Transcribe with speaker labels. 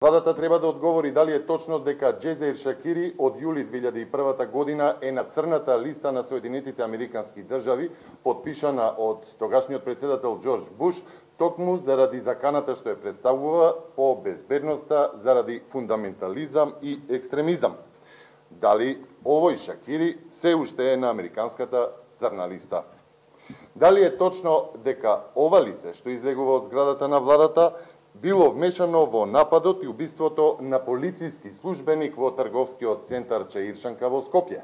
Speaker 1: Владата треба да одговори дали е точно дека Џезаир Шакири од јули 2001 година е на црната листа на Соединетите Американски држави, подпишана од тогашниот председател Џорџ Буш, токму заради заканата што ја представува по безбедноста заради фундаментализам и екстремизам. Дали овој Шакири се уште е на американската црна листа? Дали е точно дека ова лице што излегува од зградата на владата било вмешано во нападот и убиството на полициски службеник во трговскиот центар Чаиршанка во Скопје?